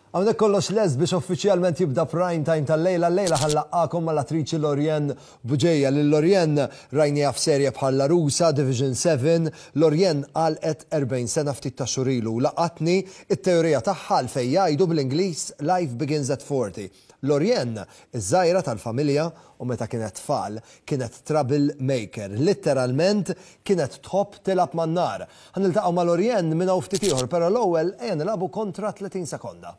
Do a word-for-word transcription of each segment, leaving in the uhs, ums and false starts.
Hawnhekk kollox lest biex uffiċjalment jibda prime time tal-lejla. L-lejla ħa nlaqqagħkom mal-attriċi Lorianne Bugeja. Lil Lorianne rajnieha f'serje bħal L-Għarusa, Division seven. Lorianne għalqet erbgħin sena ftit ta' xhur ilu. Laqatni it-teorija tagħha għalfejn jgħidu bl-Ingliż "Life begins at forty". Lorianne, iż-żgħira tal-familja, u meta kienet tfal kienet trouble maker. Literalment kienet tħobb tilgħab man-nar. Ħa niltaqgħu ma' Lorianne minn hawn ftit ieħor, però l-ewwel ejja nilagħbu kontra tletin sekonda.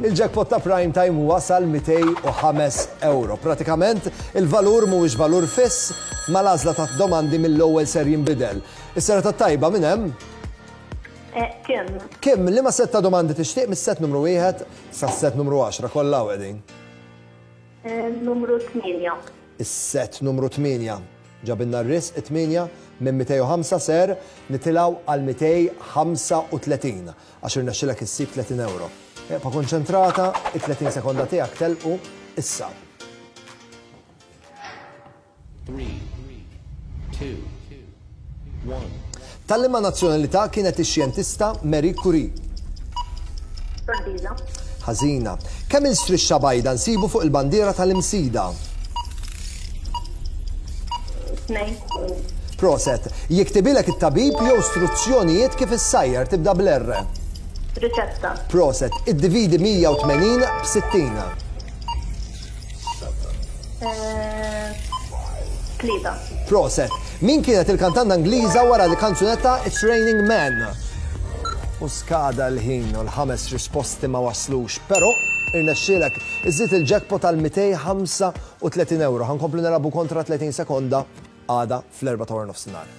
Il-jackpot ta' prime time wasal mitejn u ħames euro. Pratikament il-valur mhuwiex valur fiss, mal-għażla ta' domandi mill-ewwel ser jinbidel. Is-serata tajba, minn hemm? Eh, Kim. Kim, liema set ta' domandi tixtieq mis-set numru wieħed sa set numru għaxra, kollha qegħdin? Eh, numru tmienja. Is-set numru tmienja. Ġabilna r-risq it-tmienja. Minn mitejn u ħamsa ser nitilgħu għal mitejn u ħamsa u tletin għax irnexxilek issib tletin euro. Ibqa' konċentrata, it-tletin sekonda tiegħek telqu issa. Three, two, one. Ta' liema nazzjonalità kienet ix-xjentista Marie Curie? Sordiża. Ħażina. Kemm il-strixxa bajda nsibu fuq il-bandiera tal-Imsida? Tnejn. Proset. Jiktibilek it-tabib jew istruzzjonijiet kif issajjar, tibda bl-R. Riċetta. Proset. Iddividi mija u tmenin b'sittin. Eh, Tlieta. Proset. Min kienet il-kantanta Ingliża wara l-kanzunetta "It's Raining Men"? U skada l-ħin u l-ħames risposti ma waslux, però irnexxielek iżid il-jackpot għal mitejn u ħamsa u tletin euro. Ħa nkomplu nilagħbu kontra tletin sekonda għada fl-erbgħa ta' nofsinhar.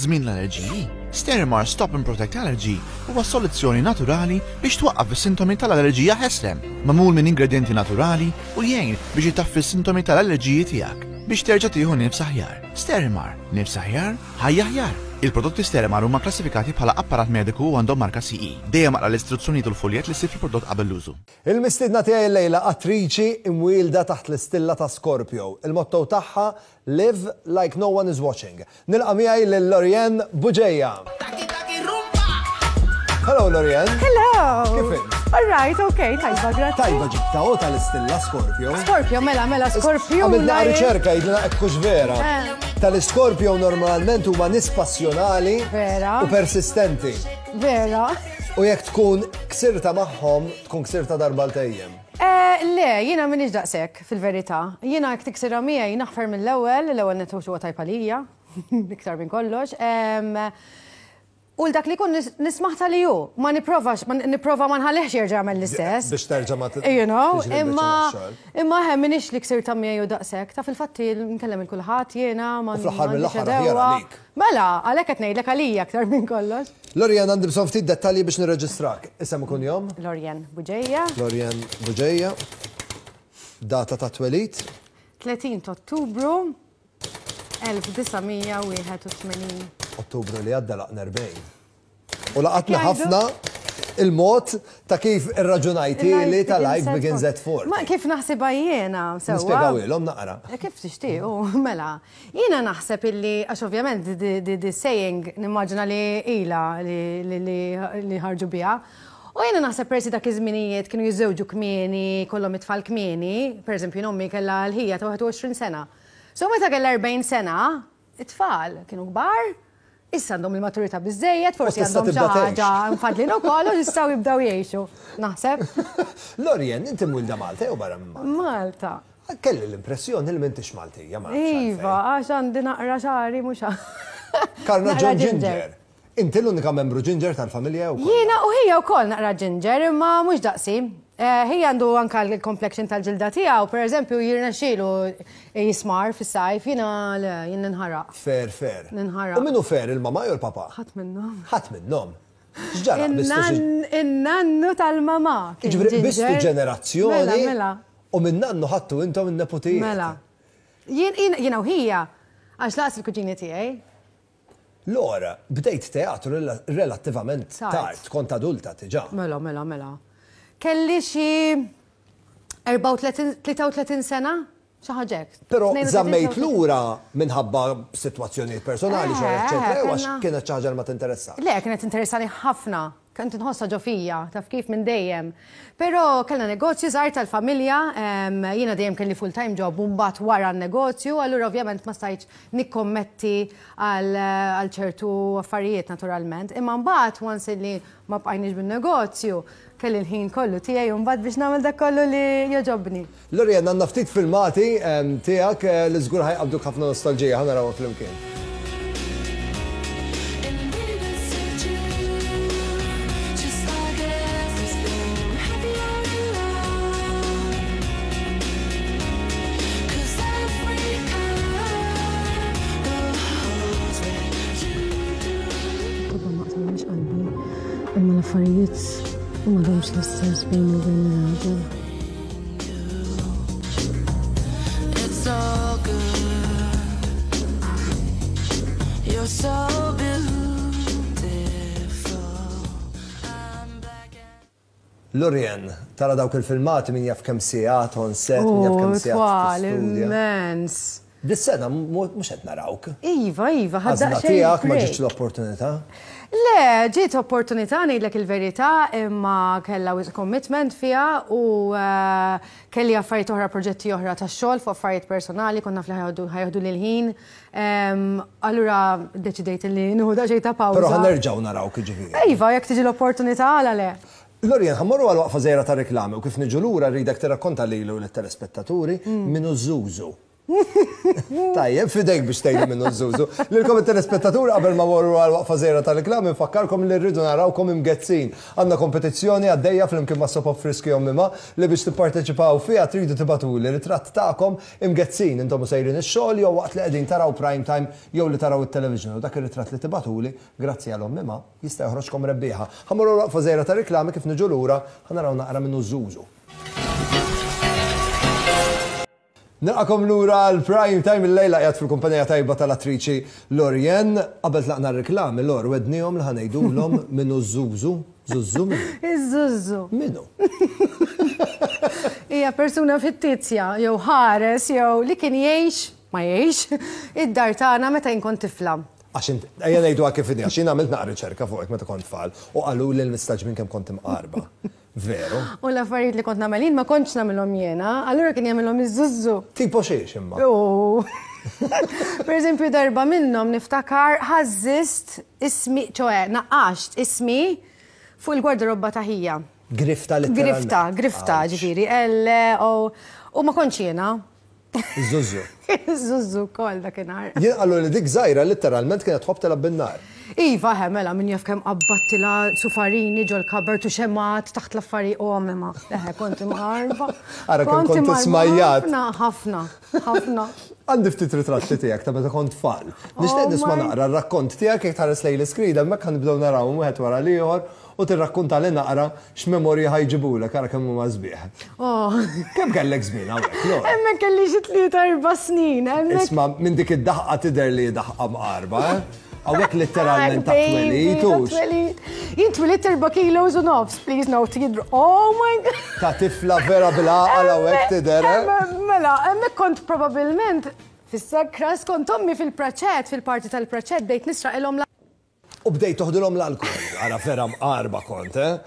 Żmien l-allerġiji, Sterimar Stop and Protect Allergy huwa soluzzjoni naturali biex twaqqaf is-sintomi tal-allerġija ħesrem, magħmul minn ingredienti naturali u jgħin biex itaffi s-sintomi tal-allerġiji tiegħek biex terġa' tieħu nifs aħjar. Sterimar, nifs aħjar, ħajja aħjar. Il-prodotti Sterimar huma klassifikati bħala apparat mediku u għandhom marka C E. Dejjem aqra l-istruzzjonijiet u l-foljet li ssib fil-prodott qabel l-użu. Il-mistiedna tiegħi llejla attriċi imwielda taħt l-istilla ta' Scorpio. Il-motto tagħha: "Live like no one is watching". Nilqa' miegħi lil Lorianne Bugeja. Hello, Lorianne. Hello. Kif int? All right, okay, tajba, grazzi. Tajba, ġibta u tal-istilla Scorpio. Scorpio, mela, mela, Scorpio. Għamilna riċerka, jidna ekkux vera. Eh. Tal-Scorpio normalment huma nies passjonali Vera. u persistenti. Vera. U jekk tkun ksirta magħhom, tkun ksirta darba għal dejjem. Eh, le, jiena m'iniex daqshekk, fil-verità. Jiena jekk tiksira miegħi naħfer mill-ewwel, l-ewwel nett huwa tajb għalija, iktar minn kollox. Em, U l-dak li kun nis- nismaħ tal-li ju, ma nipprovax, ma nipprova ma nħallihx jerġa' jagħmel l-istess. Biex terġa' ma t- You know, tiġri imma l-biċċa. Imma hemm m'iniex li ksirta miegħi u daqshekk. Ta' fil-fatti nkellem il kulħadd jiena ma U fl-aħħar m'għandix mill-aħħar aħjar edewa. għalik. Mela, għalhekk qed ngħidlek għalija aktar minn kollox. Lorianne, għandi bżonn ftit dettalji biex nirreġistrak. Isem u kunjom? Lorianne Bugeja. Lorianne Bugeja. Data ta' twelid? tletin ta' Ottubru elf disa' mija wieħed u tmenin. Ottubru li għadda laqna erbgħin. U laqatna Jgħidu. ħafna il-mod ta' kif irraġunajti li ta' "life begins at forty". Ma kif naħsibha jiena, sewwa. Nispjegaw ilhom naqra. Eh, Kif tixtiequ, mela. Jiena naħseb illi, għax ovvjament di, di, di saying nimmaġina li ila li, li, li, li ħarġu biha. U jiena naħseb persi dak iż-żminijiet kienu jiżżewġu kmieni, kollhom it-tfal kmieni, per eżempju ommi kellha l-ħija ta' wieħed u għoxrin sena. So meta kellha erbgħin sena, it-tfal kienu kbar, issa għandhom il-maturità biżejjed, forsi tista' għandhom xi tibda tgħix. ħaġa mfadlin ukoll u jistgħu jibdew jgħixu. Naħseb. Lorianne, inti mwilda Malta jew barra minn Malta? Malta. Kelli l-impressjoni li m'intix Maltija, ma nafx Iva, għax għandi naqra xagħri mhux Karna naqra John Ginger. Inti l-unika membru ginger tal-familja u Jiena u ħija wkoll naqra ginger, imma mhux daqsi. Eh, Ħija għandu anka l-complexion tal-ġilda tiegħu, per eżempju, jirnexxielu jismar fis-sajf, jiena le, jien ninħaraq. Fair, fair. Ninħaraq. U minnu fair, il-mama jew il-papa? Ħadd minnhom. Ħadd minnhom. X'ġara? Bistu xi- In-nannu tal-mama kien Ġifieri bistu ginger. ġenerazzjoni. Mela, mela. U minn nannu ħattu intom in-neputijiet. Mela. Jien jien- jiena u ħija, għax lanqas il-kuġini tiegħi. Lor, bdejt teatru relattivament Tard. tard, kont adulta diġà. Mela, mela, mela. Kelli xi erbgħa u tletin, tlieta u tletin sena, xi ħaġa hekk. Però tnejn u tletin, żammejt tlieta u tletin. lura minħabba sitwazzjonijiet personali, Eh, xogħol, eċċetera, jew għax kellna- kienet xi ħaġa li ma tinteressa. Le, kienet interessani ħafna. Kont nħossha ġo fija, taf kif, minn dejjem. Però kellna negozju żgħar tal-familja, em, jiena dejjem kelli full-time job u mbagħad wara n-negozju, allura ovvjament ma stajtx nikkommetti għal għal ċertu affarijiet, naturalment. Imma mbagħad, once li ma bqajniex bin-negozju, kelli l-ħin kollu tiegħi u mbagħad biex nagħmel dak kollu li jogħġobni. Lorien, għandna ftit filmati em, tiegħek eh, li żgur ħa jqabbduk ħafna nostalġija, ħa narawhom flimkien. And baby, suit you just like everything. Happy out in love. 'Cause every color goes where you do. Tobba ma qtamx qalbi, imma l-affarijiet m'għadhomx l-istess bejni u bejn ir-raġel. It's all good. You're so beautiful. I'm black and Lorien, tara dawk il-filmati, min jaf kemm sigħat on set, min jaf kemm sigħat Twal, tistudja. immens. Dis-sena mhux qed narawk. Iva, iva, Għażla ħadda tiegħek, ma ġietx l-opportunità? Le, ġiet opportunità, ngħidlek il-verità, imma kellha wisq commitment fiha u eh, kelli affarijiet oħra, proġetti oħra ta' xogħol fuq affarijiet personali, konna fli ħa joħdu l-ħin. Em, Allura deċidejt li nieħu daqsxejn ta' pawża. Però ħa nerġgħu narawk, ġifieri. Iva, jekk tiġi l-opportunità, għala le. Lorien, ħa mmorru għal waqfa żgħira ta' reklami u kif niġu lura rridek tirrakkonta lilu lit-telespettaturi min hu Zuzu. Tajjeb, f'idejk biex tgħidu min hu Zuzu. Lilkom it-telespettaturi, qabel ma morru għal waqfa żgħira ta' reklami, nfakkarkom li rridu narawkom imgezzin. Għandna kompetizzjoni għaddejja flimkien ma' Sopop Friski Ommima li biex tipparteċipaw fiha tridu tibagħtuli ritratt tagħkom imgezzin intom u sejrin ix-xogħol jew waqt li qegħdin taraw Prime Time jew li taraw it-television, u dak ir-ritratt li tibagħtuli, grazzi għal Ommima, jista' joħroġkom rebbieħa. Ħa mmorru waqfa żgħira ta' reklami, kif niġu lura ħa naraw naqra min hu Zuzu. Nilqagħkom lura l-Prime Time. Il-lejla qiegħed fil-kumpanija tajba tal-attriċi Lorien. Qabel tlaqna r-reklami, Lor, wegħednihom li ħa ngħidulhom min hu Zuzu. Zuzu min hu? Iż-Zuzu. Min hu? Hija persuna fittizja, jew ħares, jew li kien jgħix, ma jgħix, id-dar tagħna meta jien kont tifla. Għax int, ejja ngħidu kif inhi, għax jien għamilt naqra riċerka fuqek meta kont tfal u qalu li l-mistaġmin kemm kont imqarba. Veru? U l-affarijiet li kont nagħmel jien ma kontx nagħmilhom jiena, allura kien jagħmilhom iż-Zuzu. Tipo xiex imma? U per eżempju, darba minnhom niftakar ħażżist ismi, ċoè, naqqaxt ismi fuq il-gwardarobba ta' ħija. Grifta letteralment. Grifta, grifta, Ouch. ġifieri, L, O, u ma kontx jiena. Zuzu. Zuzu kol dakinhar. Jien qalu li dik żgħira letteralment kienet tħobb telgħab bin-nar. Iva, he, mela, min jaf kemm qabbattilha sufarini ġol cupboard u xemgħat taħt l-affari u għamema. Eħe, kont imqarba. Ara kemm kont imqarba. ismajjat. Ħafna, ħafna, ħafna. Għandi ftit ritratti tiegħek ta' meta kont tfal. Nixtieq Oh nisma' my- naqra r-rakkont tiegħek jekk tħares lejn l-iskrin, hemmhekk ħa nibdew naraw wieħed wara l-ieħor u tirrakkonta li naqra x'memorji ħa jġibulek, ara kemm huma sbieħ. Oh. Kemm kellek żmien hawnhekk, Lor? Hemmhekk kelli xi tlieta erba' snin, hemmhekk. Isma', minn dik id-daħqa tidher li daħqa mqarba, eh? Hawnhekk letteralment ta' Baby, twelid, ta' hux? twelid. Jien twelidt erba' kilos u nofs, please note, jidru. Oh my God. Ta' tifla vera bil-għaqal hawnhekk tidher, eh? Hemmhekk, mela, hemmhekk kont probabbilment fis-sakra skont ommi fil-praċett, fil-parti tal-praċett, bdejt nisraqilhom la. U bdejt toħdilhom l-alkohol. Ara vera mqarba kont, eh?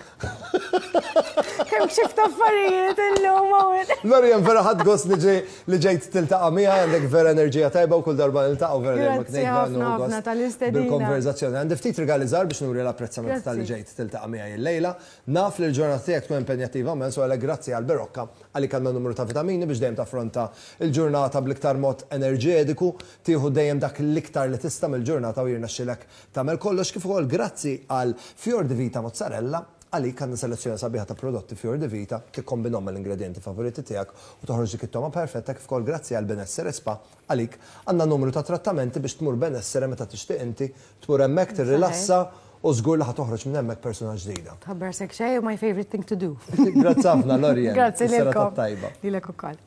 Kemm xift affarijiet illum hawn. Lorien, vera ħadt gost li ġej li ġejt tiltaqa' miegħi, għandek vera enerġija tajba u kull darba niltaqgħu vera dejjem Grazzi ngħid vera ħafna, nieħu ħafna gost tal-istedina. bil-konverzazzjoni. Għandi ftit rigali żgħar biex nuri l-apprezzament tal-li Grazzi. ġejt tiltaqa' miegħi illejla. Naf li l-ġurnata tiegħek tkun impenjattiva immens u għalhekk grazzi għal Berocca, għalik għandna numru ta' vitamini biex dejjem taffronta il-ġurnata bl-iktar mod enerġetiku, tieħu dejjem dak l-iktar li tista' mill-ġurnata u jirnexxilek tagħmel kollox, kif ukoll grazzi għal Fior di Vita Mozzarella, għalik għandna selezzjoni sabiħa ta' prodotti Fior di Vita, tikkombinhom mal-ingredienti favoriti tiegħek u toħroġ dik it-togħma perfetta, kif ukoll grazzi għal Benessere Spa, għalik għandna numru ta' trattamenti biex tmur Benessere meta tixtieq inti, tmur hemmhekk, tirrilassa u żgur li ħa toħroġ minn hemmhekk persuna ġdida. Tħabbar sek xejn, my favorite thing to do. Grazzi ħafna, Lorien. Grazzi Is-serata lilkom. tajba. Lilek ukoll.